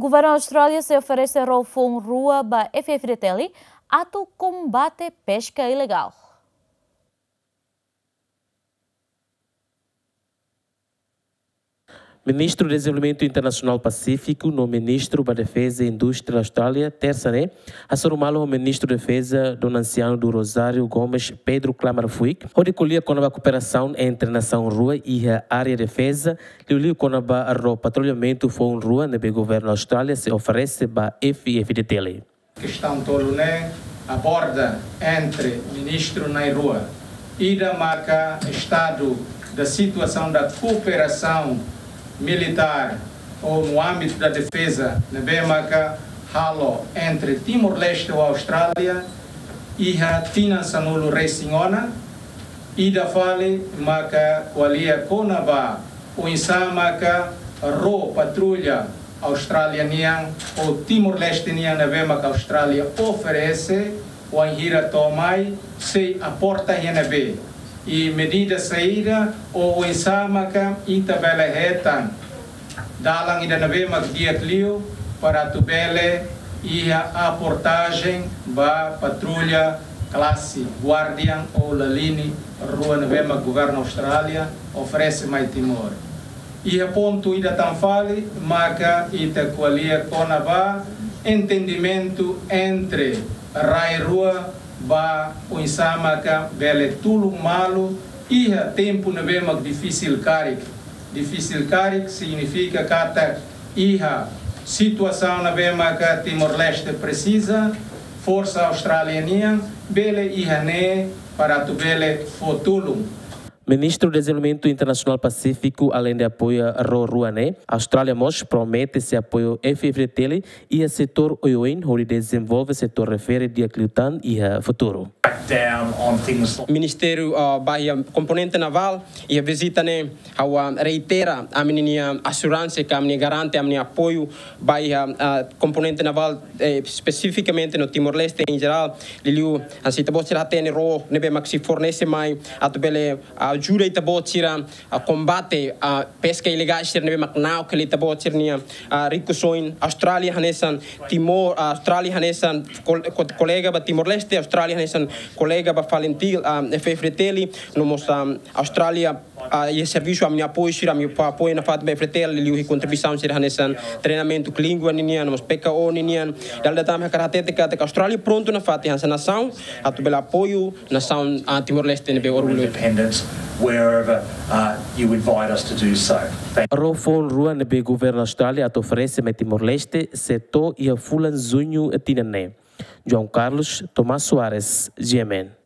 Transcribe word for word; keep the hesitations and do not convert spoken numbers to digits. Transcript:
Governu Austrália sei oferese ró foun rua ba F F D T L atu kombate peska ilegál. Ministru Dezenvolvimentu Internasionál Pasífiku no Ministru ba Defeza i Indústria Austrália, tersa ne'e, hasoru malu ho Ministru Defeza Dom Anciano do Rosário Gomes, Pedro Klammer Fuik, hodi ko'alia kona-ba kooperasaun entre nasaun rua iha área defeza, liuliu kona-ba ró patrullamentu foun rua ne'ebé Governu Austrália sei oferese ba F F D T L. Kestaun tolu ne'e aborda entre ministru na'in-rua. Ida maka estadu da situasaun da kooperasaun militár ou no ámbito da defeza ne'ebé maka halo entre Timor-Leste ou Austrália iha tinan sanulu-resin-ona. Ida fali maka ko'alia kona-ba oinsá maka ró patrulla Austrália nian ou Timor-Leste nian ne'ebé maka Austrália oferese, wainhira to'o mai sei aporta iha ne'ebé. I medida saida ou oinsá maka ita bele hetan dalan ida ne'ebé mak di'ak liu para atu bele iha aportajen ba patrulla klase Guardian ou Lalini rua ne'ebé mak governu Austrália oferese mai Timor. Iha pontu ida tan fali maka ita ko'alia kona-ba entendimentu entre rai rua ba oinsá maka bele tulun malu iha tempu ne'ebé mak difisil karik. Difisil karik signifika katak iha situasaun ne'ebé maka Timor-Leste presiza, forsa Austrália nian bele iha ne'e para atu bele fó tulun. Ministru Dezenvolvimentu Internasionál Pasífiku, aleinde apoia ró rua ne'e, Austrália mós promete sei apoia F F D T L iha setór oioin hodi dezenvolve setór refere di'ak liután iha futuru. Crackdown on things like Ministériu, ah, ba iha komponente navál, iha vizita ne'e, ha'u, ah, reitera ami-nia assurance ka ami-nia garante ami-nia apoiu ba iha, ah, komponente navál, eh, espesifikamente no Timor-Leste em geral, liuliu, ah, se ita-boot sira hatene ró ne'ebé mak sei fornese mai atu bele ajuda ita-boot sira, ah, kombate, ah, peska ilegál sira ne'ebé mak na'ok hela ita-boot sira-nia, ah, rikusoin. Austrália hanesan Timor, ah, Austrália hanesan kol-, ko-, kolega ba Timor-Leste, Austrália hanesan kolega ba FALINTIL, ah, F F D T L, no mós, ah, Austrália, ah, iha servisu ami-nia apoiu sira, ami-nia apoiu nafatin ba F F D T L, liuliu kontribuisaun sira hanesan treinamentu língua ninian, no mós P K O ninian. Dala ida tan hakarak hatete katak Austrália prontu nafatin hanesan nasaun atu bele apoiu nasaun, ah, Timor-Leste ne'ebé orgullu. Independence wherever, uh, you invite us to do so. Thank Ró foun rua ne'ebé governu Austrália atu oferese mai Timor-Leste sei to'o iha fulan Juñu tinan ne'e. João Carlos, Tomás Soares, G M N.